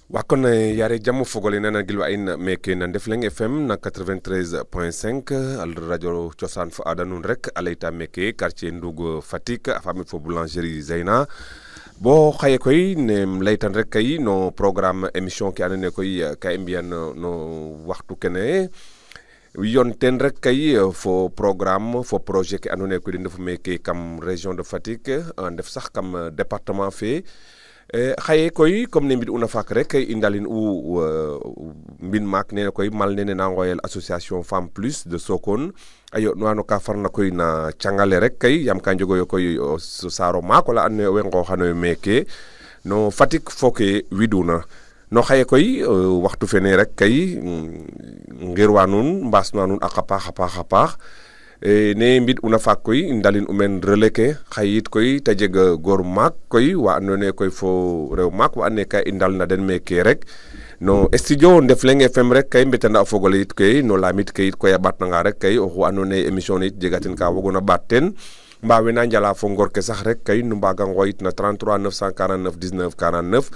wakon yare jam fogole nana gilwa in meke na Ndefleng FM na 93.5 al radio ciosan fo ada nun rek alayta meke quartier Ndougo Fatick afami fo boulangerie Zeyna bo xaye koy ne laytan rek kay no programme émission ki andone koy ka mbiyan no waxtu kene yon ten rek kay fo programme fo projet ki andone koy den defu meke kam région de Fatick def sax kam département fe xaye koy comme ne mbid una fak rek indalin u mbin maak nene koy mal nene na ngoyel association Femme Plus de Sokone ayo no ka farna koy na cangale rek kay yam ka njogoyo koy so saro maak wala anne we ngoxano meke no Fatick foke widuna no xaye koy waxtu fene rek kay ngirwa nun mbaasnuwa nun a paax ne mbid una faak koy ndalin umen relais ke xayit koy ta jeg goor maak koy wa andone koy fo rew maak wa ane ka i ndal na den meke rek no studio Ndefleng FM rek kay mbetanda o fogole yit koy no lamit ke yit koy a ɓatnanga rek kay oxu andone émission ne yit jegaten ka wagona ɓaat ten mbawe na njala fo ngor ke sax rek kay nu mbaga ngoyit na 33 949 19 49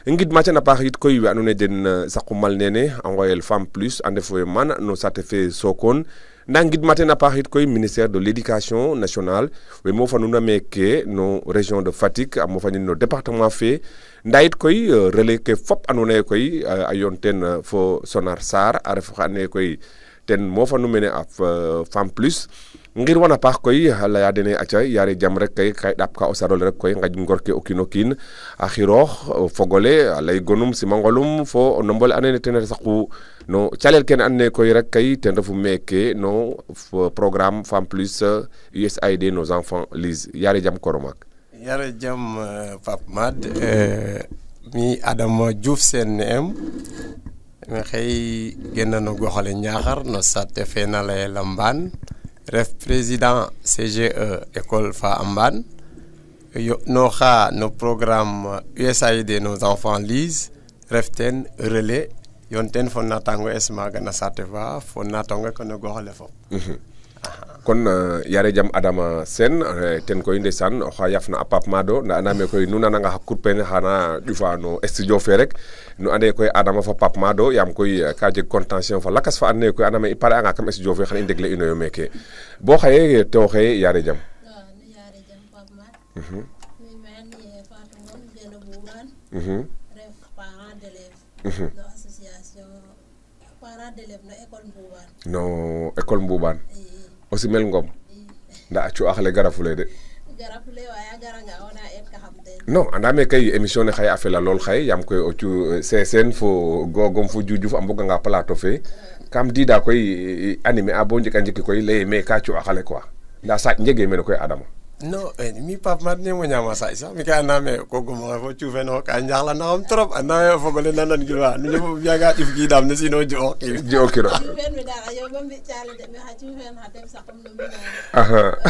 ngid ma a paax yit koy we andone den saqu mal nene a ngoyel Femme Plus a ndefo mana no sate fe Sokone nda ngid maten a paax it koy ministère de l'éducation nationale we mo fanuna meke no région de Fatick a mo fanin no département fe nda it koy relais ke fop andona koy a yon ten fo Sonar Sarr a ref xane koy ten mo fanu mene a Femme Plus ngir wana paax koy laya dene aca yare jam rek kay ɗap ka o sarol rek koy ngaj ngor ke o kiin o kiin a xiroox fogole a lay gonum simangolum fo o nombole andone ten saqu no calel kene andone koy rek kay ten refu meke no programme Femme Plus USAID nos enfants lise yare jam koromak yare jam Pape Mad mi Adama Diouf sen em mi xey genna no goxale Niakhar no sate fe na lay Lamban ref président CGE école fa Amban yo no xa no programme USAID nos enfants lise ref ten relais yon ten fo natango esmaga na sate fa fo natango ko no goxale fo kon yare jam Adama Sen ten koy ndeysaan oxa yafna a Pape Mado nda andame koy nu nananga xa kurpene xana ƴufa no studio fe rek nu ande koy Adama fa Pape Mado yam koy ka jeg contention fa lakas fa andone koy andame i pare anga kam studio fe xan i ndegle ino yo meke bo xaye to xaye yare jam yare jam Pape Mad mi men ye Fatou Ngom geno bugan ref parent d'élèves no association parent d'élèves no école Mboubane no école Mboubane o simel Ngom nda a cu'axale garafule de garafule waya garanga ona et ka xam ten non andame kay émission ne xaye a fela lool xaye yam koy o cu sesen fo gogom fo Dioudiouf a mboganga plateau fe kam dida koy animé a bo njek a njeki koy leye me ka cu'axale quoi nda saaj njege mene koy Adama non mi Pape Mad ne mo ñama sax mi ka andame ko gum fo cuufe no ka njaxla naxam trop andame fogole nanan gilwa nu ñëpp biaga if gi dam ne sino jo kiro fen mi dara yo bam bi ciale de mi ha ci fen ha dem saxum no mi aha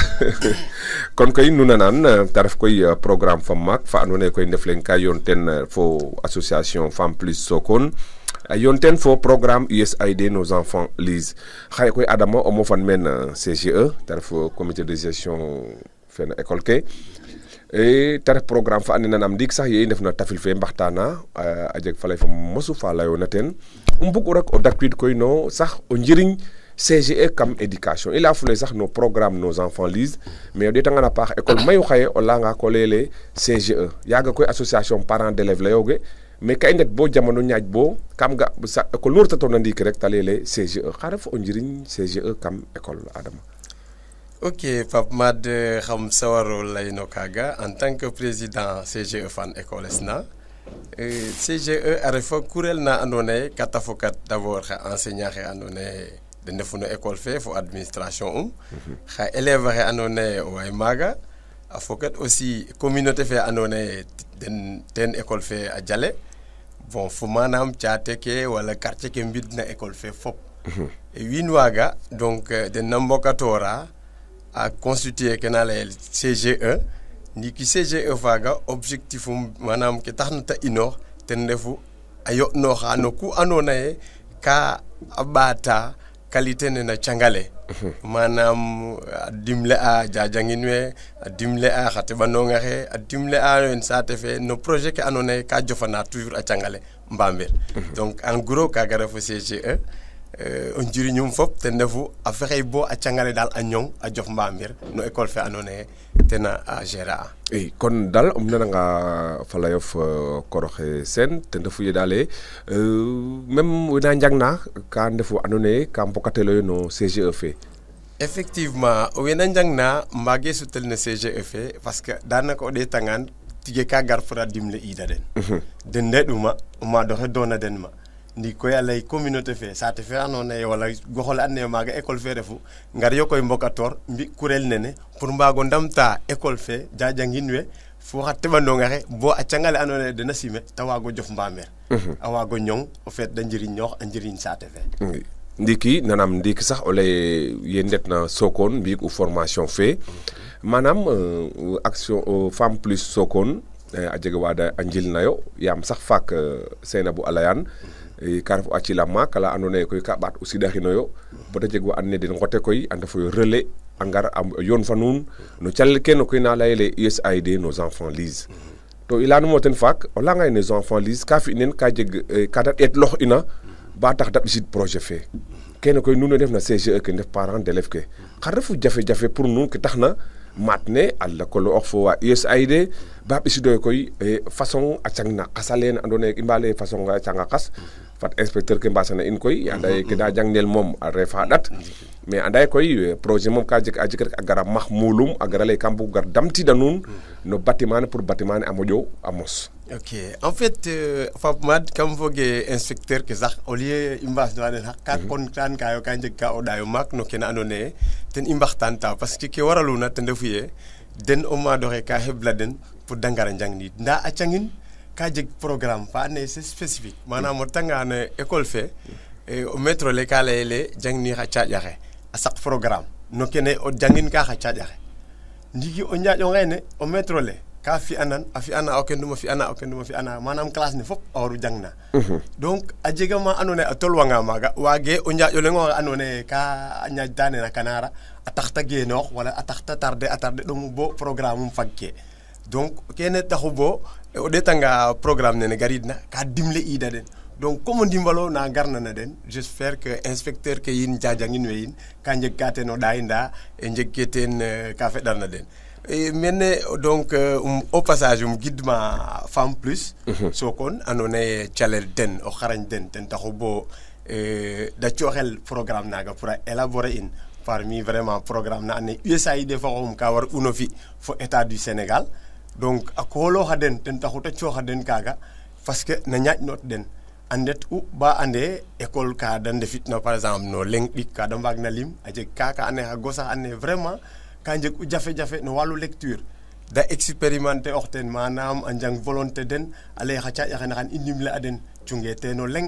kon koy nu nanan ta ref koy programme fa mak fa andone koy Ndefleng ka yon ten fo association Femme Plus Sokone yon ten fo programme USAID nos enfants lise xaye koy Adama o mo fan men CGE ta ref comité de gestion fen école ke e ta ref programme fa andona nam ndik sax ye i ndef na tafil fe mbaxtana a jeg falay fa mosu fa layona ten mbug rek o dakwiid koy no sax o njiriñ CGE kam éducation i leya fule sax no programme nos enfants lise mais o ɗeetanga na paax école mayu xaye o layanga ko leyele CGE yaaga koy association parents d'élèves layooge mais ka i ndet bo jamono ñaaj bo kam ga école nu retatoona ndiiki rek ta leyele CGE xa ref o njiriñ CGE kam école Adama ok Pape Mad xam sawaro lay no kaga en tant que président CGE fan école esna CGE a refa kurel na andone kata fokat d'abord xa enseignant xe andone de ndefu no école fe fo administration xa élève xe andone way maga a fokat aussi communauté fe andone den ten école fe a jale bon fu manam caate ke wala quartier ke mbid na école fe fop et win waga donc den nambokatora a constitué kenale CGE ni ki CGE faga objectif manam ke taxna ta inor ten refu ayo no xano ku anona e ka abata qualité ne na cangale manam a dimle a jajangin we a dimle a xa teɓanonga xe a dimle a en saate fe no projet ke andoona yee ka jofana toujours a cangale Mbamir donc en gros kaaga refu CGE o njiriñum fop ten refu a fexey bo a cangale daal a ñong a jof Mbamir no école fe andoona yee ten a gérer a i kon daal nananga fa layof Koroxe Sene ten refu ye daal même wena njangna ka ndefu andoona yee ka mbokateloyo no CGE fe effectivement wena njangna mbaage sutel no CGE fe parce que daanaka o ɗeetangaan tige ka gar pour a dimle ida den den ndeɗuma o maad oxe doona den ma ndi koy a lay communauté fe saate fe andoona yee wala goxole andona yee maaga école fe refu ngar yo koy mbokatoor mbi kurel nene pour mbaago ndamta école fe jajangin we fo xa teɓandong axe bo a cangale andoona yee den a sime ta waago jof Mbamir a waago ñong o feet da njiriñoox a njiriñ saate fe ndiki nanam ndiki sax o lay ye ndetna Sokone mbi'ik u formation fe manam action femme plus Sokone a jega waada a njilnayo yaam sax faak Seynabou a layan ka ref a cilama kala andoona yee koy ka ɓaat o siɗaxinoyo bata jeg wa andoona yee den ngote koy a ndefoyo relais a ngar a yoon fa nuun no calel kene koy na layele USAID nos enfants lise to i leyanum ten faak o layanga ye nos enfants lise ka fi nen ka jeg ka da ɗeetlox ina ba tax da ɓisid projet fe kene koy nuun we ndef na CGE ke ndef parents d'élèves ke xa refu jafe-jafe pour nuun ke taxna maat ne a lakoloox fo wa USAID ba ɓisidoyo koy façon a cangna qas alene andoona yee i mba lay façon a canga qas fat inspecteur ke mbasana in koy anda ye ke da jangnel moom a refa ɗat mais anda ye koy projet moom ka jeg a jeg rek a gara max mulum a gara lay kam bug gar damtida nuun no bâtiment ne pour bâtiment ne a moƴo a mos ok en fait Fap Mad kam foge inspecteur ke sax au lieu i mbaasnoxa den xaq ka kontaan kayo ka njeg ka o ɗaayo maak no kene andoona yee ten i mbaxtaanta parce que ke waraluna ten refu yee den o maad oxe ka xebla den pour da ngara njangniid ndaa a cangin ka jeg programme fa andoona yee c'est spécifique manam o retanga no école fe o maître le ka layele jangni xa caaƴ axe a saq programme no kene o jangin ka xa caaƴ axe ndiki o njaaƴ ongeene o maître le ka fi'anan a fi'ana o kendum a fi'ana o kendum a fi'ana manam classe ne fop a waru jangna donc a jega ma andoona yee a tolwanga maaga waage o njaaƴ o leŋ oxe andoona yee ka ñaaƴta nena Kanara a tax ta geenoox wala a tax ta tarder ɗomu bo programme um fagke donc kene taxu bo o ɗeetanga programme nene garidna ka dimle iida den donc comme o ndimbalo na garna na den j'espère que inspecteur ke yin jajangin we yin ka njeg ka ten o ɗaay ndaa e njeg ke ten ka feɗarna den mene donc au passage gidma femme plus Sokone andoona yee calel den o xarañ den ten taxu bo da cooxel programme naaga pour a élaborer in parmi vraiment programme na andoona yee USAID fa xooxum ka war uno fi fo état du Sénégal donc a koolooxa den ten taxu ta cooxa den kaaga parce que na ñaaƴnoot den a ndet u ba ande école ka da ndefitna par exemple no leŋ ɗik ka da mbaagna lim a jeg kaaka andoona yee xa gosax andoona yee vraiment ka njeg u jafe-jafe no wàllu lecture da expérimenter ox ten manam a njang volonté den a lay xa caaƴ axene xan i ndimle a den cunge teen o leŋ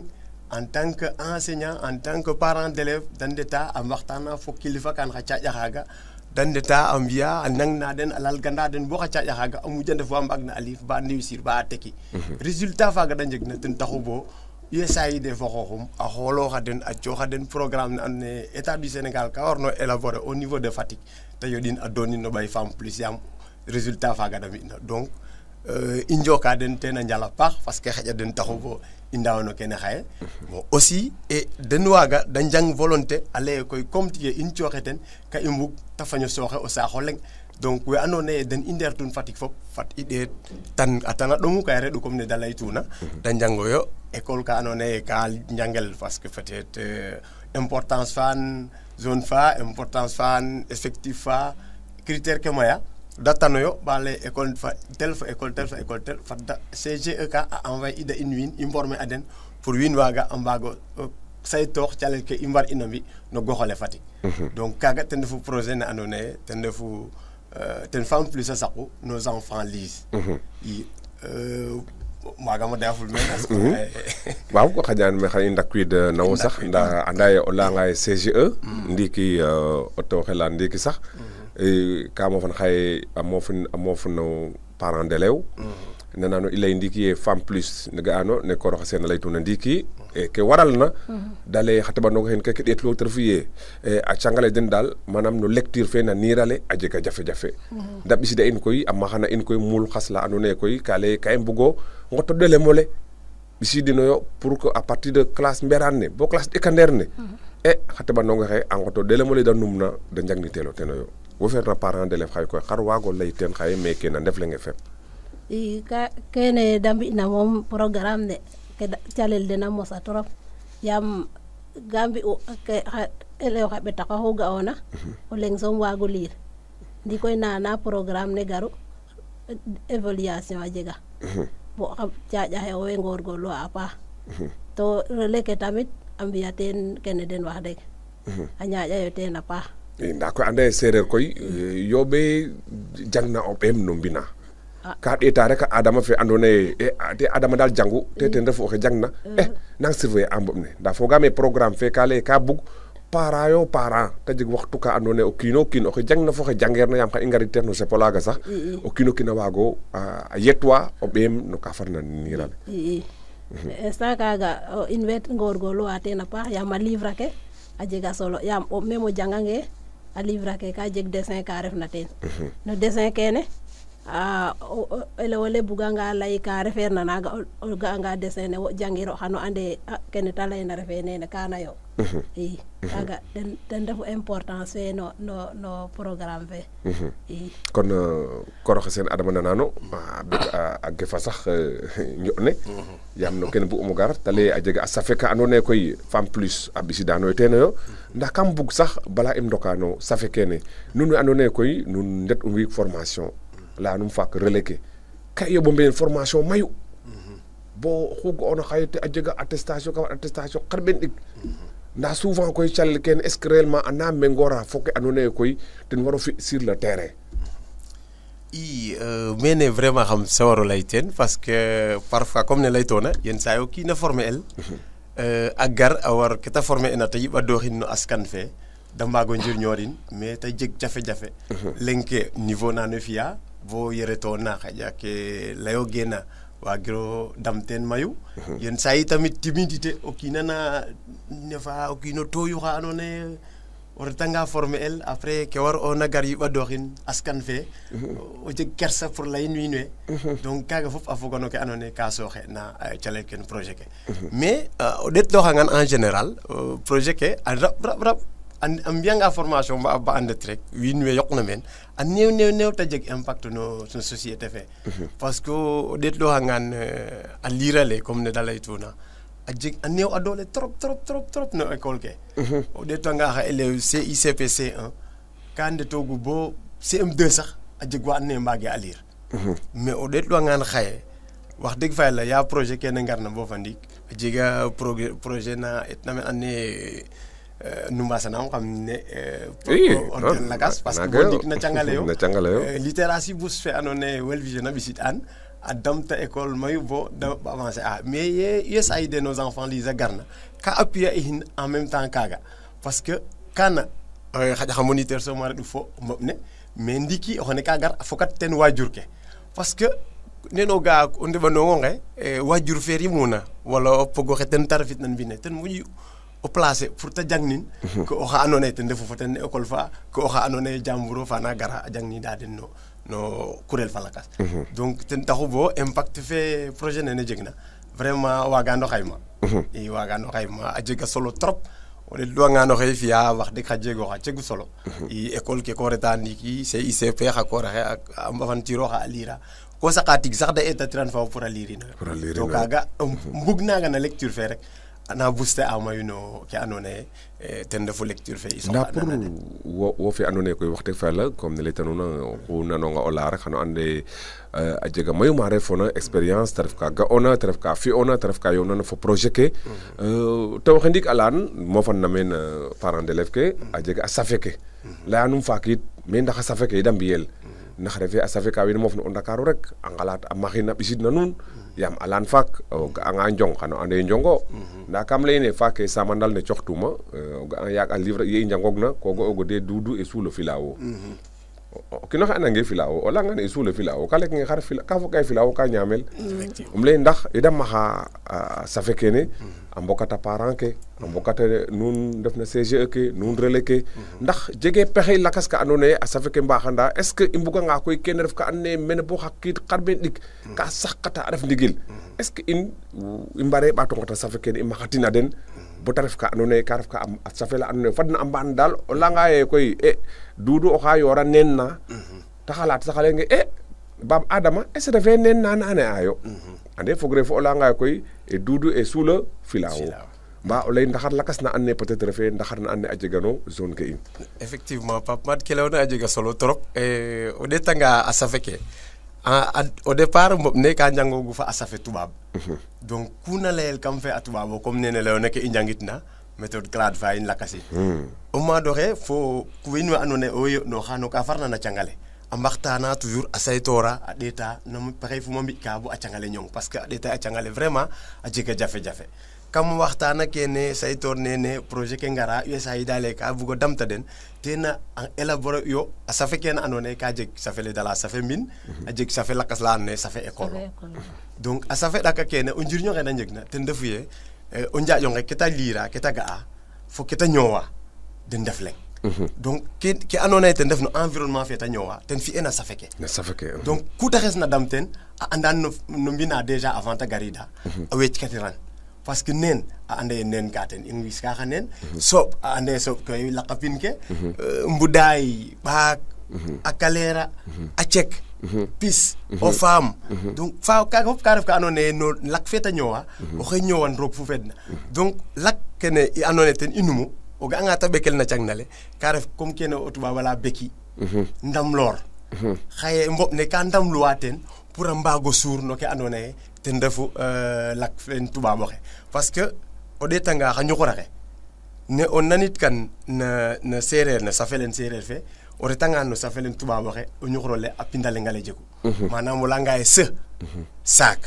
en tant que enseignant en tant que parent d'élève da ndeta a mbaxtaana fo kilifa kan xa caaƴ axaaga da ndeta a mbi'a a nangna den a lalganda den bo xa caaƴ axaaga a muja ndef wa mbaagna a liif ba réussir ba a teki résultat faaga da njegna ten taxu bo USAID fo xooxum a xoolooxa den a cooxa den programme ne andoona yee état du Sénégal ka warno élaborer au niveau de Fatick te yoɗin a doonin no ɓay femme plus yaam résultat faaga da mbi'na donc i njoka den ten a njal a paax parce que xaƴa den taxu bo i ndaaw no kene xaye bon aussi et den waaga da njang volonté a lay koy comme tiye in cooxe ten ka i mbug ta faño sooxe o saax o leŋ donc we andoona yee den i ndeertun Fatick fop fat i ɗeet tan a tana ɗomu kay reɗ'u comme ne da laytuna da njangoyo école ka andoona yee ka njangel parce que peut-être importance fan zone fa importance fan effectif fa critère ke maya da tanoyo ba lay école fa tel fa école tel fa école tel fat da CGE ka a envoyer ida in wiin i mborme a den pour wiin waaga a mbaago saytoox calel ke i mbar ina mbi no goxole Fatick donc kaaga ten refu projet ne andoona yee ten refu ten femme plus a saqu nos enfants lise i maagama dayaful meen waaw ko xaƴaan me xan i ndakwiid nawo sax nda anda ye o layanga ye CGE ndiiki o tew xela ndiiki sax ka mofan xaye a moof no parent d'élève nanano i lay ndiiki ye femme plus ne ga'ano ne kooroxe seen a laytuna ndiiki ke waral na dale xa teɓanong xen keke ɗeetlo te refu ye a cangale den daal manam no lecture fe na niirale a jega jafe-jafe nda ɓisida in koy a maxana in koy muul xas la andoona yee koy ka lay ka i mbugo ngoto ɗelemo le ɓisidinoyo pour que à partir de classe mberaan ne bo classe ɗekandeer ne xa teɓanong xe a ngoto ɗelemo le da numna da njangniteelo tenoyo wo feerna parent d'élève xaye koy xar waago lay teen xaye meke na Ndefleng FM i kene da mbi'na moom programme ne ke calel den a mosa trop yaam ga mbi'u elew xa ɓetak axu ga'oona o leŋ soom waago liir ndi koy nana programme ne garu évaluation a jega bo xa caaƴa xe owey ngoorgoorluwa a paax to relais ke tamit a mbi'a teen kene den wax deg a ñaaƴayo teen a paax ndaa koy anda ye seereer koy yooɓe jangna o ɓeem no mbina ka ɗeeta rek a adama fe andoona yee te adama daal jangu te ten refu oxe jangna nang surveiller a mboɓ ne ndaa fogaam ee programme fe ka lay ka bug parent yo parent te jeg waxtu ka andoona yee o kiin o kiin oxe jangna fo xe jangeer na yaam xa i ngarit teen no sepo laaga sax o kiin o kiin a waago a yetwa o ɓeem no ka farna niirale instant kaaga in way ngoorgoorluwa teen a paax yaam a livre ke a jega solo yaam même o jangange a livre ke ka jeg dessin ka refna teen no dessin kene elew ole buganga lay ka refeer na naaga o ga'anga dessin ne wo jangiro xano ande kene ta layna refe nene kana yo i kaaga ten refu importance fe no programme fe i kon koroxe seen adama nanano a gefa sax njo'ne yaam no kene bug'um o gar te lay a jega a safe ka andoona yee koy femme plus a ɓisidanoyo teenoyo ndax kam bug sax bala im ndoka no safe kene nun we andoona yee koy nun ndet u mbi'ik formation layanum faak relais ke ka i yoɓo mbi'en formation mayu bo oxu ga'oona xaye te a jega attestation ka attestation xarɓeen ɗik ndaa souvent koy calel kene est ce que réellement ana mengora fo ke andoona yee koy ten waro fi sur le terrain mene vraiment xam sawaro lay teen parce que parfois comme ne laytoona yen saa yo kiina former el a gar a war ke ta former ena te yiɓadooxin no askan fe da mbaago njirñoorin mais te jeg jafe-jafe leŋ ke niveau na no fi'a bo yeretoona xaƴa ke layogeena waagiro dam teen mayu yen saa yi tamit timidité o kiina na nefa o kiino tooyu xa andoona yee o retanga former el après ke war ona gar yiɓadooxin askan fe o jeg kersa pour layin wiin we donc kaaga fop a foga no ke andoona yee ka sooxe na calel ken projet ke mais o ɗeetlooxangan en général projet ke a rab a mbi'anga formation ba andet rek wiin we yoqna meen a néew te jeg impact no société fe parce que o ɗeetlooxangan a liirale comme ne da laytuuna a jeg a néew a doole trop no école ke o ɗeetwanga xa élève CICP C1 ka ndetoogu bo CM2 sax a jeg wa andoona yee mbaage a liir mais o ɗeetlooxangan xaye wax dëgg fa yàlla yaa projet kene ngarna bo fa ndiik a jega projet na etna meen andoona yee nu mbaasanaam xam ne organ lakas parce que bo ndik na cangale yo littératie bourse fe andoona yee World Vision a ɓisid an a damta école mayu bo da avancer a mais ye USAID nos enfants lisa garna ka appuyer in en même temps kaaga parce que kana xaƴa xa moniteur soom a reɗ'u fo mboɓ ne mais ndiki o xene ka gar a fokat ten waajur ke parce que neno ga o ndeɓandoong onge waajur fe rimuna wala o pog oxe ten ta refitna mbine ten moƴu o placer pour te jangnin ko oxa andoona yee ten refu fo ten école fa ko oxa andoona yee jamburo fa na gara a jangnida den no kurel fa lakas donc ten taxu bo impact fe projet nene jegna vraiment waagano xayma i waagano xayma a jega solo trop o ɗeetluwangaan oxe fi'a wax dëgg xa jego xa cegu solo i école ke ko reta ndiiki CICP xa koor axe a mbafantirooxa a liira ko saqa tig sax da eetatiran fa pour a liirinoyo to kaaga mbug naaga na lecture fe rek ana booster a mayu no ke andoona yee ten refu lecture fe i soxla ndaa pour wo fe andoona yee koy wax dëgg fa yàlla comme ne laytanuuna oxu nanonga o laya rek xano ande a jega mayu ma refoona expérience te ref ka ga'oona te ref ka fi'oona te ref ka yo'nana fo projet ke te waxe ndiik a layan mofan na meen parent d'élève ke a jega a safe ke layanum faak yit mais ndax a safe ke da mbiyel ndax refe a safe ka wiin mofna o Ndakaaru rek a ngalaat a maxin a ɓisid na nuun yaam alaan faak o ga'anga njong xano ande njongo ndaa kam layine faak ke samandal ne coxtuma o ga'a yaag a livre ye i njangoogna ko ga'oogo de Doudou et sous le filao o kino xe anange filao o leyanga ne suule filao ka lek nge xar ka fo kay filao ka ñaamel lay ndax ida maxa safe kene a mbokata parent ke a mbokata nuun ndef na CGE ke nuun relais ke ndax jege pexey lakas ka andoona yee a safe ke mbaxanda est ce que i mbuganga koy kene ref ka andoona yee mene bo xa qiid xarɓeen ɗik ka saxkata a ref ndigil est ce que i mbare ɓaato ngota safe kene i maxatina den bo ta ref ka andoona yee ka ref ka a safe la andoona yee fadna a mbaan daal o layanga yee koy Doudou oxa yoora neen na ta xalaat sax a leyonge Bab Adama est ce que refee neen na ne'aayo ande fogre fo o layanga koy Doudou e suula filao mbaa o lay ndaxar lakas na and ne peut être refee ndaxar na and ne a jegano zone ke in effectivement Pape Made ke leyona a jega solo trop o ɗeetanga a safe ke au départ mboɓ ne ka njangoogu fa a safe tubaab donc kuna layel kam fe a tubaab o comme nene leyona ke i njangit na méthode clade fa in lakasi o maad oxe fo wiin we andoona yee o yo'nooxa no ka farna na cangale a mbaxtaana toujours a saytoora a ɗeeta no pexey fu ma mbi'ka bo a cangale ñong parce que a ɗeeta a cangale vraiment a jega jafe-jafe kam waxtaana kene saytoor nene projet ke ngara USAID ale ka bugo damta den tena a élaborer yo a safe kene andoona yee ka jeg safe le dala safe mbin a jeg safe lakas la andoona yee safe école donc a safe ɗaka kene o njiriñ onge na njegna ten refu yee o njaaƴ onge ke ta liira ke ta ga'a fo ke ta ñoowa den ndef leŋ donc ke andoona yee ten ref no environnement fe ta ñoowa ten fi'e na safe ke donc ku ta xesna dam ten a andan no mbina déjà avant ta garida a wecckatiran parce que neen a anda ye neen ka ten in wis ka xa neen sooɓ a anda ye sooɓ koy laqapin ke mbudaay ɓaak a kaleera a cek pis o faam donc fa kaga fop ka ref ka andoona yee no lak fe ta ñoowa oxey ñoowan roog fu fedna donc lak kene i andoona yee ten i numu o ga'anga ta ɓekel na cang nale ka ref comme kene o tubaab ala beki ndamloor xaye mboɓ ne ka ndamluwa ten pour a mbaago suur no ke andoona yee ten refu lak fen tubaab oxe parce que o ɗeetanga xa ñuxur axe ne o nanit kan na seereer na safelen seereer fe o retanga no safelen tubaab oxe o ñuxur ole a pindalenga le jegu manam o layanga ye saak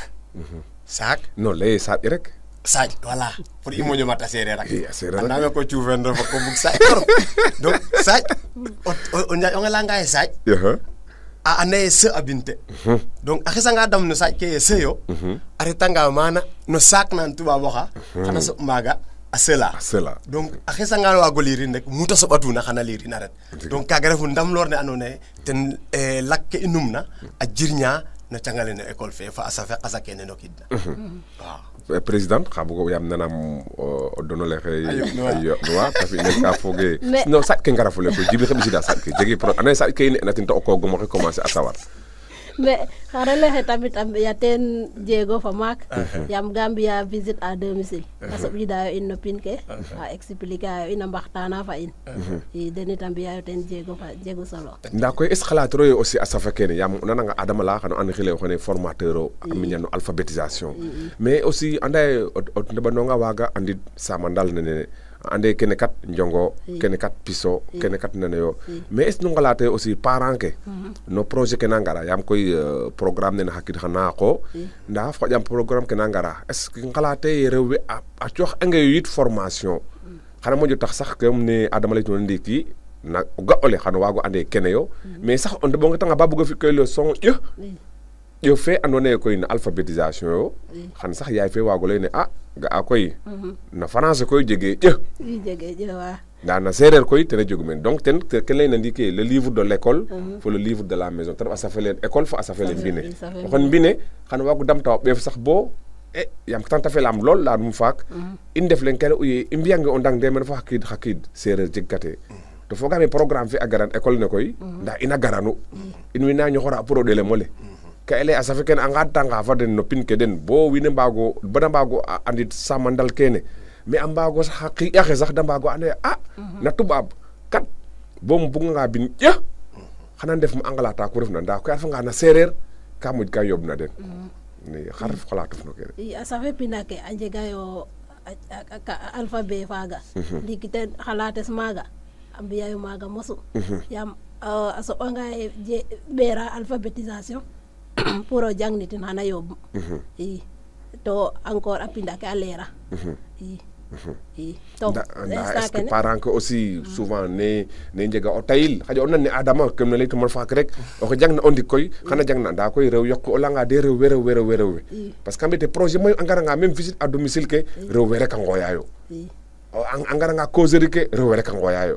non leye saaƴ rek saaj voilà pour i moƴo mat a seereer ak andame ko cuufen refa ko bug saaj trop donc saaj o njaaƴ onge layanga ye saaj a anda ye a binte donc a xesanga dam no saaj ke ye yo a retanga mana no saak nan tubaab oxa xana soɓ maaga a sela donc a xesanga waago liirin rek muta soɓatuna xana liirin a ret donc kaga refu ndamloor ne andoona yee ten lak ke i numna a jirña no cangale no école fe fa a safe qasa kene no kidna waaw président xa bugo yaam nanam o donole xe a yo'nuwa ta fi nen ka foge non saƴ ke ngara fule koy Djiby xe ɓisida saƴ ke jege anda ye saƴ ke i ne'na ten to o koogum oxe commencer a sawar mais xa relais xe tamit a mbi'a teen jéego fa maak yaam ga mbi'a visite à domicile a soɓidayo in no pin ke a expliquer ayo in a mbaxtana fa in i den it a mbi'ayo teen jéego fa jegu solo ndaa koy est ce xalatiro ye aussi a safa kene yaam o nananga Adama la xano and xile o xene formateur o a miña no alphabétisation mais aussi anda ye o ndeɓanonga waaga andid samandal nene ande kene kat njongo kene kat piso kene kat neneyo mais est ce nu ngalate aussi parent ke no projet ke na ngara yaam koy programme nene xa kiid xa naaqo ndaa xoƴam programme ke na ngara est ce que ngalate ye rew we a coox angeyo yit formation xana moƴo tax sax comme ne Adama leytuna ndiiki na o ga ole xano waago ande kene yo mais sax o ndeɓongetanga ba bugo fi koy leçon ƴo fe andoona yee koy no alphabétisation yo xan sax yaay fe waago lay ne ga'a koy na français koy jege ndaa na séeréer koy ten a jogu meen donc ten ke layna ndiiki le livre de l'école fo le livre de la maison te ref a safeleen école fo a safeleen mbine o xon mbine xan waago damta o ɓeef sax bo yaam tanta felaam lool laya num faak i ndef leng kene uye i mbiyange o ndang de mene fo xa qiid séeréer jeg kate to fogaame programme fe a garan école ne koy ndaa ina garanu in way na ñoxora pour o ɗelem ole ka ele a safe kene a ngadtanga fa den no pin ke den bo wiin we bada mbaago andid samandal kene mais a mbaago sax xa qiƴaxe sax da mbaago ande na tubaab kat bo um buganga bin xana ndef ma a ngalata ku refna ndaa koy a refanga na séeréer ka moƴ ka yooɓna den xar ref xalatuf no kene a safe pina ke a njegayo alphabet faaga ndiiki ten xalates maaga a mbi'ayo maaga mosu yaam a soɓanga ye ɓeera alphabétisation pour o jang nitin xana yooɓ i to encore a pinda ke a leera i i to est-ce que parents que aussi souvent ne njega o tayil xaƴa o nan ne Adama kem ne leytuma faak rek oxe jang na o ndik koy xana jang na nda koy rew yoq o langa de rew we parce que mbete projet mayu a ngaranga même visite à domicile ke rew we rek a ngooyayo a ngaranga causerie ke rew we rek a ngooyayo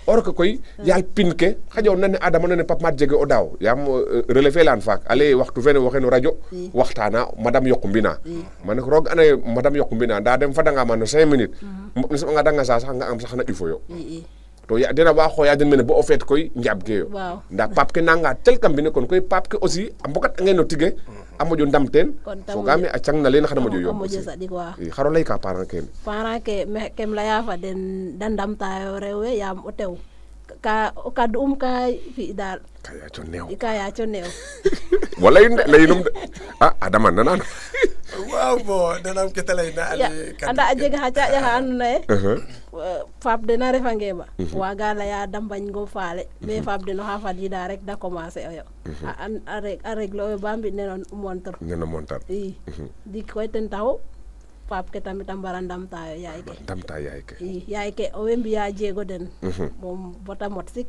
or que koy yaal pin ke xaƴa o nan ne Adama nane Pape Made jege o daaw yaam relevé lan faak ale waxtu fene woxe no radio waxtana madame Yokou Mbina mane ko roog anaye madame Yokou Mbina nda dem fadanga ma no 5 minutes ne soɓanga danga sa sax nga am sax na ƴufoyo to ya dena wa xooya den mene bo o feet koy njaab ke yo nda Pape ke nanga tel kam mbine kon koy Pape ke aussi a mbokat ange no tige a moƴo ndam teen fogaame a cang na leen xana moƴo yomb xaro lay ka parent kene parent ke kem leya fa den da ndamtayo rew we yaam o tew ka ka fi daal ka yaaco neew wala leyinum de Adama nanaan waaw bo danam ke ta leyna anda a jega xa caaƴa xa andoona yee faap den a refange ma waaga leya da mbañgo faale mais faap den oxa fadiida rek da commencer oyo a régler oyo ba mbi neno montar i dik koy ten taxu Pape ke tamit a mbara ndamtaayo yaay ke yaay ke owey mbiya jeego den moom bota mot sik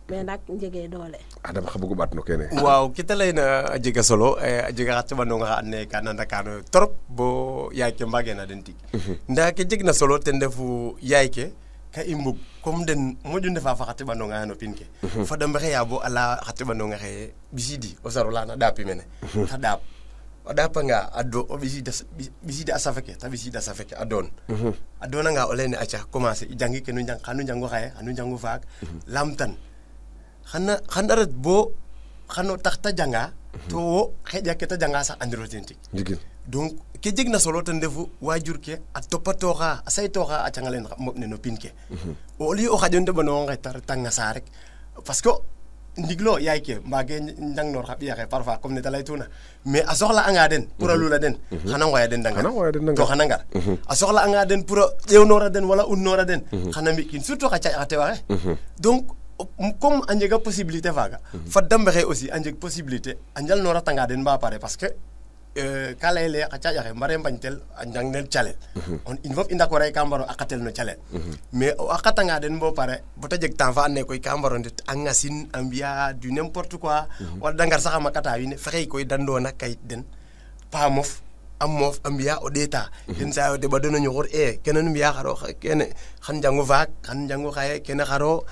mais nak njege doole Adama xa bugu ɓaat no kene waaw ke ta leyna a jega solo a jega xa teɓanonga xa and naye ka nandakano trop bo yaay ke mbageena den tig nda ke jeg na solo ten refu yaay ke ka i mbug comme den moƴu ndefa fa xa teɓanonga xe no pin ke fada mbexeya bo ala xa teɓanonga xe ɓisidi o saro lana ɗaapi mene ta ɗaap o ɗapanga o ɓisida a safe ke ta ɓisida safe ke a doon a doonanga o leyne aca commencer i jangi ke nu njang xanu njangu xaye xanu njangu faak lamtan xana ret bo xano tax ta janga to wo xeƴa ke ta janga sax andiro ten tig donc ke jeg na solo ten refu wajur ke a topatoxa a saytoxa a canga len moɓ ne no pin ke au lieu o xaƴo ndeɓanongo nge ta retanga sa rek parce que ndiglo yaay ke mbage njangnoor xa ɓiya xe parfois comme ne ta leytuna mais a soxla anga den pour a lula den xana ngoya den dangar to xana ngar a soxla anga den pour a ƴewnora den wala unnoora den xana mbi'kin surtout xa caƴ xa tewaxe donc comme a njega possibilité faaga fat da mbexey aussi a njeg possibilité a njalnoratanga den ba pare parce que ka leyele xa caƴaxe mbare mbañtel a njang nel calel in fop i ndakora ka mbaro a qatel no calel mais a qatanga den bo pare bota jeg temps fa and naye koy ka mbaro ndet a ŋasin a mbiya du n'importe quoi wala da ngar sax a makata wiin we fexey koy da ndoona kayit den pa mof a moof a mbiya o ɗeeta ten saa yo deɓa den o ñoxor kene nu mbiya xaro kene xan njangu faak xan njangu xaye kene xaro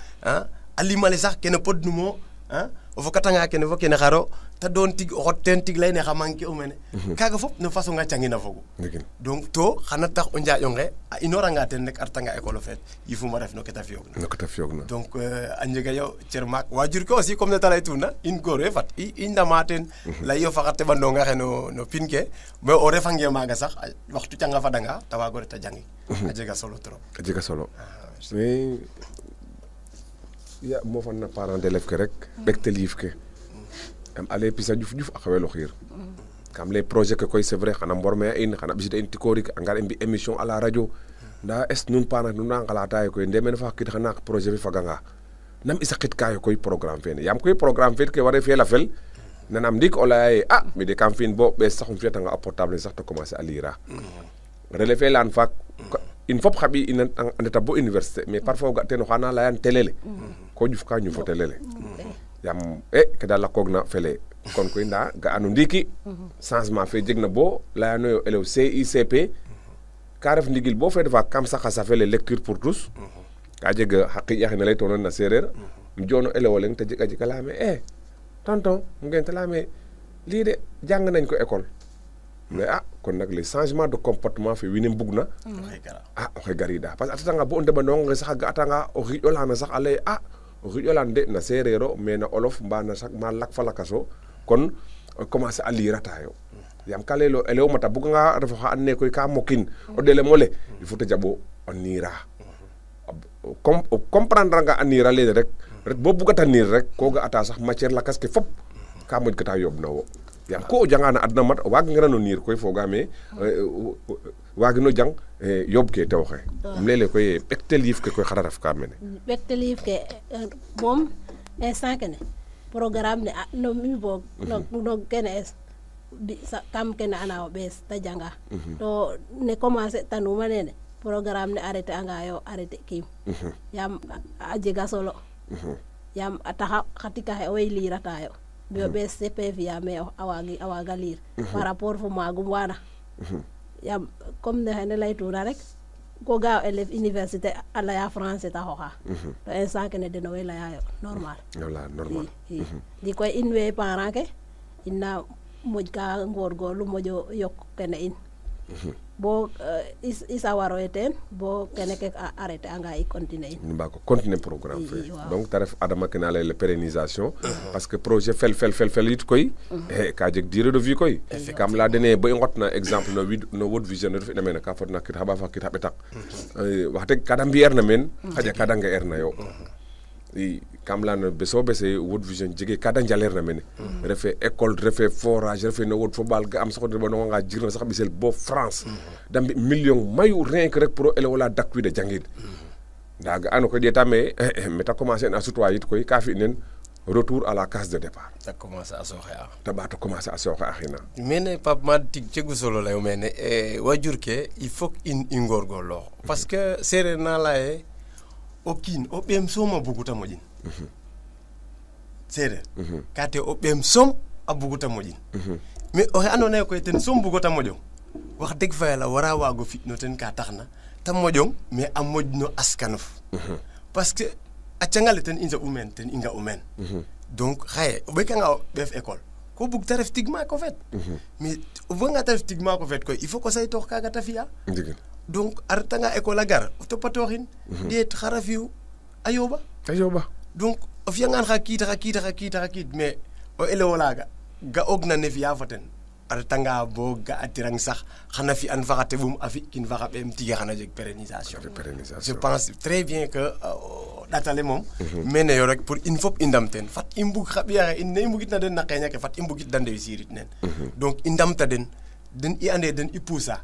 a limale sax kene podnumo o fokatanga kene fo kene xaro ta doon tig o xot teen tig leyne xa manquer u mene kaaga fop no façon nga cangina fogu donc to xana tax o njaaƴ onge a inoranga ten rek a retanga école o feet yifuma ref no ke ta fiyoogna donc a njega yo cer maak wajur ke aussi comme ne ta leytuna in goor we fat i ndama ten ley yo fa xa teɓanonga xe no pin ke mais o refange maaga sax waxtu canga fadanga ta waago ret a jangik a jega solo trop mais ya mofan na parent d'élève ke rek ɓektel yiif ke am ale pisa ƴuf a xewelo xiir kam les projet ke koy c'est vrai xana mborme a in xana ɓisida in tikorik a ngar i mbi émission à la radio nda est nun parent nun na ngalata yo koy ndemene fa xakid xana projet fe faganga nam i saqit kayo koy programme fene yaam koy programme fe ke ware fela fel nanam ndik o leya ye mi de kam fi'in bo ɓees sax um fiyatanga a portable sax te commencer a lire a relais fe leyan faak in fop xa ɓiy in a ndeta bo université mais parfois o ga teen oxa na leyan télé le ko ƴuf ka ñufo télé le yaam ke da lakoogna fele kon koy nda ga'ano ndiiki changement fe jegna bo leyano yo élève CICP ka ref ndigil bo fe defa kam sax a safele lecture pour tous ka jeg xa qiƴ axe ne leytoona na sereer um joono élève o leŋ te jeg a jika leyame tonton ngeen te leyame lii de jàng nañ ko école mais kon nag les changements de comportement fe wiin we mbugna oxey gariida parce que a tatanga bo o ndeɓandoonga nge sax a ga'atanga o xiƴo lana sax a leye o xiƴolan de na sereer o mais na olof mba na ma lak fa lakas o kon commencer a lirata yo yaam ka leyelo elew mata buganga refo xa and naye koy ka mokin o ɗelem ole il faut te jaɓo o niira o comprendre anga a niira lene rek ret bo bugata niir rek ko ga'ata sax matière lakas ke fop ka moƴ kata yooɓ na wo yaam ko o janga na adna mat o waagangirano niir koy fogaame waagino jang yooɓ ke tew oxe um leyele koy ɓektel yiif ke koy xara ref ka mene ɓektel yiif ke moom instant kene programme ne no mi boog no kene es kam kene ana o ɓees ta janga to ne commencer tanuma nene programme ne arrêter anga yo arrêter kiim yaam a jega solo yaam a taxa xa tika xe owey liirata yo bio ɓees CP fi'a mais a waaga liir par rapport fo maagum waana yaam comme ne xene laytuna rek ko ga élève université a leya français ta xoxa to instant kene den owey leya yo normal ndi koy in we parent ke ina moƴ ka ngorgorlu moƴo yok kene in bo i sawaroye teen bo kene ke arrêté anga i continuer in mbaako continuer programme fe donc ta ref adama ke na layel pérennisation parce que projet fel yit koy ka jeg durée de vie koy kam leya dene bo i nqotna exemple no World Vision ne ref ina mene ka fodna kit xa ɓaaf xa kit xa ɓetak wax deg kada mbi'eer na meen xaƴa kada nge'eer na yo i kam leyano beso bese World Vision jege kada njaleer na mene refe école refe forage refe no wod fo ɓaal ga am sax o ɗeɓanonga jirna sax ɓisel bo France da mbi million mayu rien que rek pour o elew ola dakwiida jangid nda ga'ano koy ɗeeta me meta commencer na sutwa yit koy ka fi nen retour à la case de départ ta commencer a sooxe a ta ɓaato commencer a sooxe axina mene Pape Made tig cegu solo layo mene wajur ke il faut in i ngorgorloox parce que sereer na laye o kiin o ɓeem soom a buguta moƴin sereer ka te o ɓeem soom a buguta moƴin mais oxe andoona yee koy ten soom bugota moƴong wax deg fa yàlla wara waago fi no ten ka taxna ta moƴong mais a moƴ no askanof parce que a cangale ten i nja'u meen ten i nga'u meen donc xaye o ɓekanga o ɓeef école ko bug ta ref tig maak o feet mais o buganga ta ref tig maak o feet koy il faut ko saytoox kaaga ta fi'a donc a retanga école a gar o topatooxin ɗeet xara fi'u a yooɓa donc o fi'angaan xa kiit mais o elew olaaga ga'oogna ne fi'a fo ten a retanga bo ga'atirang sax xana fi'an fa xa teɓum a fi'kin fa xa ɓeem tige xana jeg pérennisation je pense très bien que o ɗatale moom mene yo rek pour in fop i ndam teen fat i mbug xa ɓiya xe in ne i mbugitna den na qeeña ke fat i mbugit da ndeussir it nen donc i ndamta den i ande den i poussa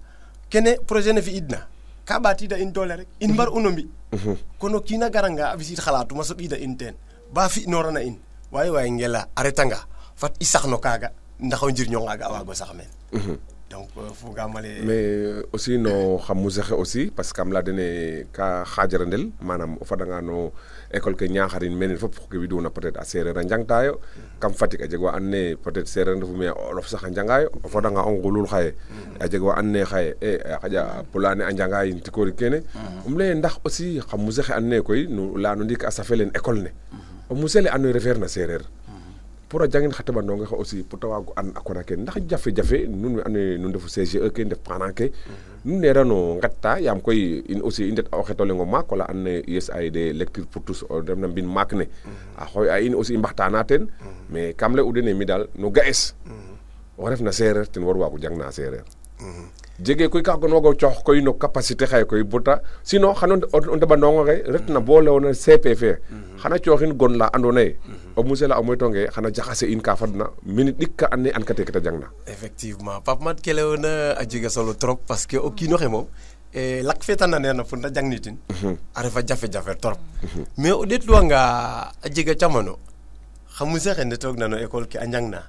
kene projet ne fi'idna ka ɓaatida in doole rek in mbar uno mbi kono kiina garanga a ɓisid xalatuma soɓida in teen ba fi'noorana in waye ngela a retanga fat i sax no kaaga ndax o njirñonga a waago sax meen donc fogaamale mais aussi no xa musée xe aussi parce que kam leya dene ka xajarandel manam o fadanga no école ke Niakharin mene fop ke widuna peut être a sereer a njangtayo kam Fatick a jeg wa and naye peut être sereer ndefu mais olof sax a njangayo o fadanga o ngulul xaye a jeg wa and naye xaye xaƴa pulane a njanga yin tikori kene leye ndax aussi xa musée xe and naye koy no leya no ndiik a safe len école ne o musée le andoona yee refeer na sereer pour a jangin xa teɓandonge xe aussi pour ta waago an a kona ke ndax jafe-jafe nun we andoona yee nu ndefu CGE ke ndef parent ke nu neerano nqetta yaam koy in aussi i ndet o xet o leŋ o maak wala and naye USAID lecture pour tous o ref na mbin maak ne a xooy a in aussi i mbaxtaana teen mais kam lay u dene mi daal no ga'es o ref na seereer ten war waago jang na seereer jege koy ka gon wago coox koy no capacité xaye koy bota sinon xano o ndeɓandongo xe retna bo lewona CP fe xana cooxin gon la andoona yee o musée la o moytonge xana jaxase in ka fadna minute ɗik ka and naye an kate ke ta jangna effectivement Pape Made ke leyona a jega solo trop parce que o kiino xe moom lak fe ta naneerna pour ta jangnitin a refa jafe-jafe trop mais o ɗeetluwanga a jega camano xa musée xe ndetoogna no école ke a njangna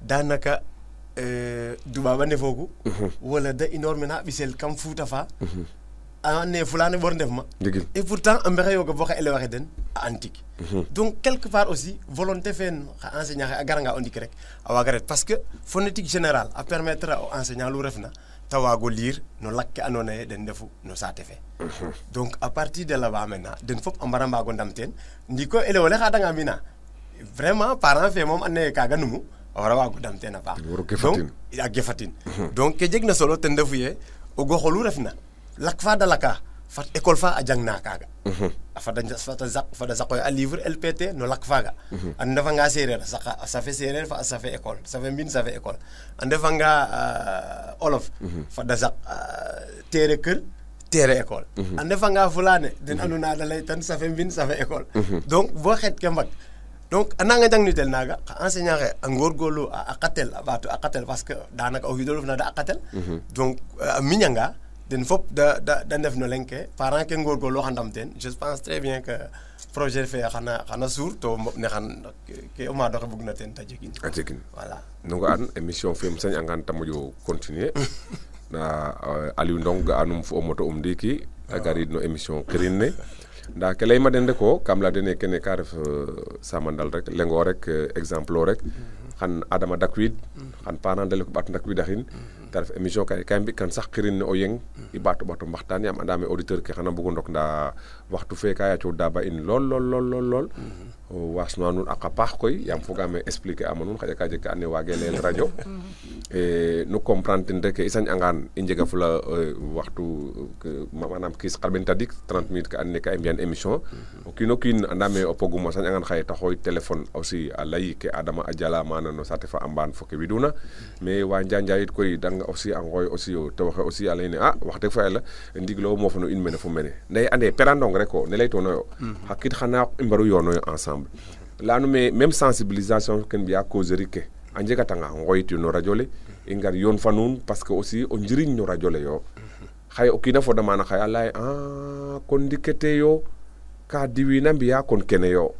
danaka duɓaɓa ndefoogu wala da inoor mena ɓisel kam Fuuta fa a ne fulane ɓor ndef ma et pourtant a mbexey yoga bo xa élève axe den a antique donc quelque part aussi volonté feen xa enseignant xe a garanga o ndik rek a waaga ret parce que phonétique générale a permettre o enseignant lu refna ta waago lire no lak ke andoona yee den ndefu no saate fe donc à partir de là-bas maintenant den fop a mbara mbaago ndam teen ndiko élève ole xaadanga mbina vraiment parent fe moom and naye kaaga numu a wara waago dam teen a paax donc a gefatin donc ke jeg na solo ten refu ye o goxolu refna lak fa da laka fat école fa a jangna kaaga a fada saqoy a livre LPT no lak faaga a ndefanga sereer a safe sereer fa a safe école safe mbin safe école a ndefanga olof fada saq tere kër tere école a ndefanga fulane den anduna da lay tan safe mbin safe école donc bo xet ke mbag donc a nanga jangnitel naaga xa enseignant xe a ngorgorlu a aqatel a ɓaato aqatel parce que danaka o xiidolof na da aqatel donc a miñanga den fop da ndef no leŋ ke parent ke ngorgorlu xa ndam teen je pense très bien que projet fe xana suur to mboɓ ne xan ke o maado xe bugna teen ta jegin a jegin voilà nonga an émission fe sañ angan ta moƴo continuer nda Aliou Ndong ga'anum fo o moto ndiki a garid no émission kirin ne nda ke leyma den rek o kam la den kene ka ref samandal rek lengo rek exemple o rek xan Adama Dakwid xan parent de ko ɓaat ndakwidaxin te ref émission ka mbi kan sax kirin ne o yeng i ɓaato mbaxtaan yaam andame auditeur ke xana mbugo ndok nda waxtu fe ka yaco daba in lool wasnuwa nuun aqa paax koy yaam fogaame expliquer ama nuun xaƴa ka jeg ka ando naye waage leyel radio nu comprendre ten rek i sañ angaan i njega fula waxtu manam kiis xarɓen tadik 30 minutes ka ando naye ka i mbiyan émission o kiino kiin andame o pogum a sañ angaan xaye ta xooy téléphone aussi a ley ke Adama a jala mana no saate fa a mbaan fo ke widuna mais wa Njanjay it koy danga aussi a ngooy aussi o tewoxe aussi a leyne wax deg fa yàlla ndiglo moofa no in mene fo mene nde ande perandong rek o ne leytoonoyo xa qiid xana i mbaru yoonoyo ensemble leyanu me même sensibilisation ken mbiya causerie ke a njegatanga ngooyit no radio le i ngar yoon fa nuun parce que aussi o njiriñ no radio le yo xaye o kiina foda maana xaye a leye kon ndikete yo ka diwiina mbiya kon kene yo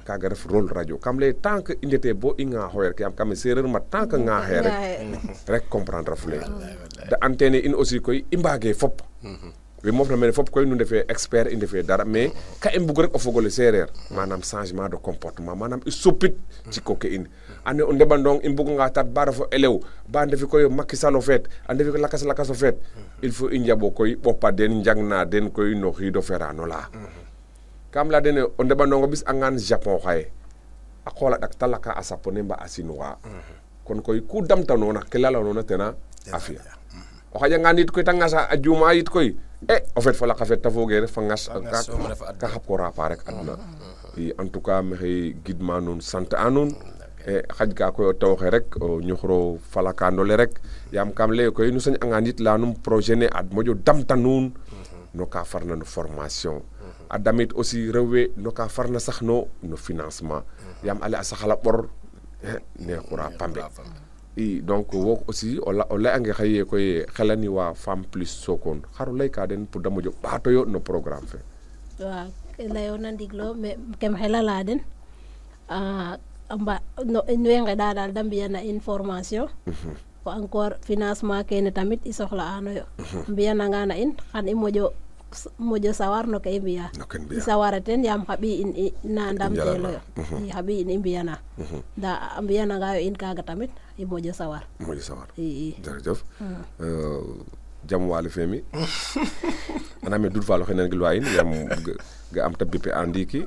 kaga ref rôle radio kam leye tant que i ndete bo i ŋaaxoyo rek yaam kame sereer ma tant que ŋaaxe rek comprendre afule da antenne in aussi koy i mbaage fop we moof na mene fop koy nu ndefe expert i ndefe dara mais ka i mbug rek o fogole sereer manam changement de comportement manam i supit jikko ke in ane o ndeɓandong i mbug nga tat ba refo elew ba ndefi koy Macky Sall o feet a ndefi lakas o feet il faut i njaɓo koy ɓopa den njang na den koy no xiido ferano la kam la dene o ndeɓandongo bis angan Japon xaye a qoola ɗak ta laka a sapone mba a chinois kon koy ku damtanoona ke lalanoona tena a fiya o xaƴangan yit koy ta ngasa a juuma yit koy o feet fa laka feet ta foge ref fa ngas ka xap ko rapa rek aduna i en tout cas maxey gidma nuun sant a nuun xaj ka koy o tewoxe rek o ñuxro falakandole rek yaam kam leye koy nu sañ angan yit leyanum projet ne ad moƴo damta nuun no ka farna no formation a damit aussi rewwe no ka farna sax no financement yaam ale a saxala ɓor ne xura pambe i donc wo aussi o leyange xaye koy xelani wa Femme Plus Sokone xaro leyka den pour da moƴo ɓaatoyo no programme fe waaw ke leyoona ndiglo mais kem xelala den in way ngeɗa daal da mbiyana in formation fo encore financement kene tamit i soxla anoyo mbiyanangana in xan i moƴo sawar no ke i mbiya i sawara ten yaam xa ɓiy in na ndamteloyo i xa ɓiy in i mbiyana nda a mbiyanangayo in kaaga tamit i moƴo sawar i jerejef jam waly fe mi aname Doudou Fall oxe nan gilwa in yaam ga am ta bipe a ndiiki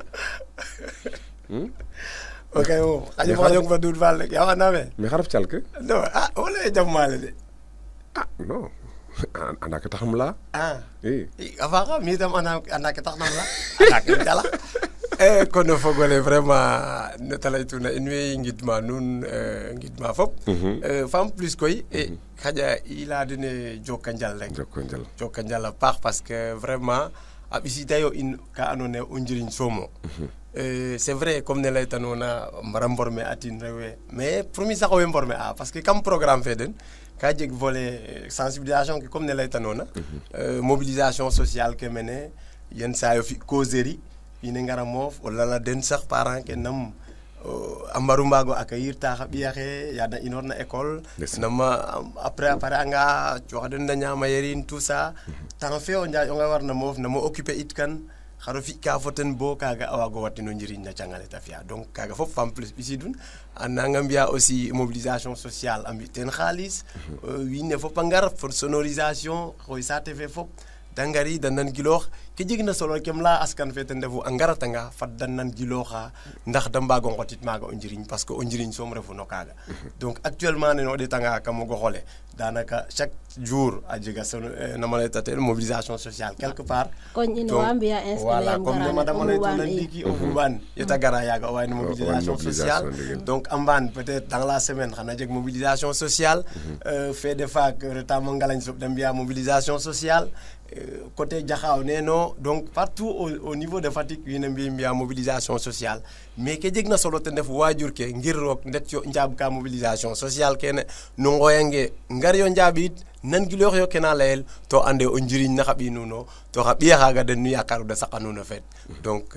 ok mo xaƴong fa Doudou Fall rek yaam andame mais xa ref calke non wala jam waale de non anda ke taxam la i a faaxa mi itam anda ke taxnam la anda ke jala kono fogole vraiment nete leytuna in way ngidma nuun ngidma fop Femme Plus koy xaƴa i leya dene joka njal rek joka njal a paax parce que vraiment a ɓisitayo in ka ando naye o njiriñ soomo c'est vrai comme ne leytanoona mbara mborme atin rewe mais pour mi sax owey mborme a parce que kam programme fe den ka jeg volet sensibilisation ke comme ne leytanoona mobilisation sociale ke mene yen sayo fi causerie ine ngara moof o lala den sax parent ke nam a mbaru mbaago accueillir ta xa ɓiya xe yaada inoor na école nama après a pare anga cooxa den da ñaama yerin tout ça temps fe o njaƴ onga warna moof nama occuper it kan xaro fi ka fo ten bo kaga a waago watino njiriñ na cangale ta fiya donc kaga fop Femme Plus ɓisidun a nanga mbiya aussi mobilisation sociale a mbi ten xaalis wiin we fop a ngar fo sonorisation xoy saate fe fop da ngari da nan giloox ke jegna solo kem la askan fe ten refu a ngaratanga fat da nan gilooxa ndax da mbaago ngotit maaga o njiriñ parce que o njiriñ soom refu no kaaga donc actuellement nene o ɗetanga kam o goxole danaka chaque jour a jega nama leyta tel mobilisation sociale quelque part koñ in wa mbiya voilà comme ne madame leytuna ndiiki o xuɓaan yeta gara yaaga o wayno mobilisation sociale donc a mbaan peut-être dans la semaine xana jeg mobilisation sociale fait de faak retamo ngalañ soɓ da mbiya mobilisation sociale côté Jaxaaw neno donc partout au niveau de Fatick wiin we mbiya mobilisation sociale mais ke jegna solo ten ref waajur ke ngir roog ndet yo njaab ka mobilisation sociale kene no ngooyange ngar yo njaabit nangiloox yo kena layel to ande o njiriñ na xa ɓiy nuno to xa ɓiya xaaga den nu yaakaru da saqa nuun o feet donc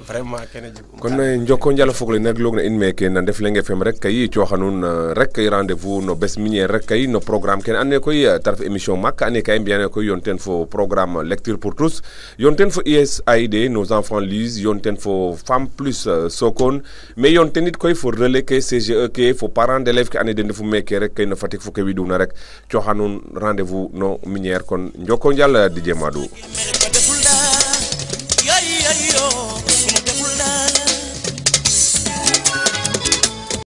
vraiment kene jegum kon njoko njal fogle nag loog na in meke na Ndefleng FM rek kay cooxa nuun rek kay rendez-vous no bes minière rek kay no programme kene ando naye koy ta ref émission maak ando naye ka i mbiya koy yoon ten fo programme lecture pour tous yoon ten fo USAID nos enfants lisent yoon ten fo Femme Plus Sokone mais yoon ten it koy fo relais ke CGE ke fo parents d'élèves ke ando naye den ndefu meke rek kay no Fatick fo ke widuna rek cooxa nuun rendez-vous no minière kon njoko njal DJ Madou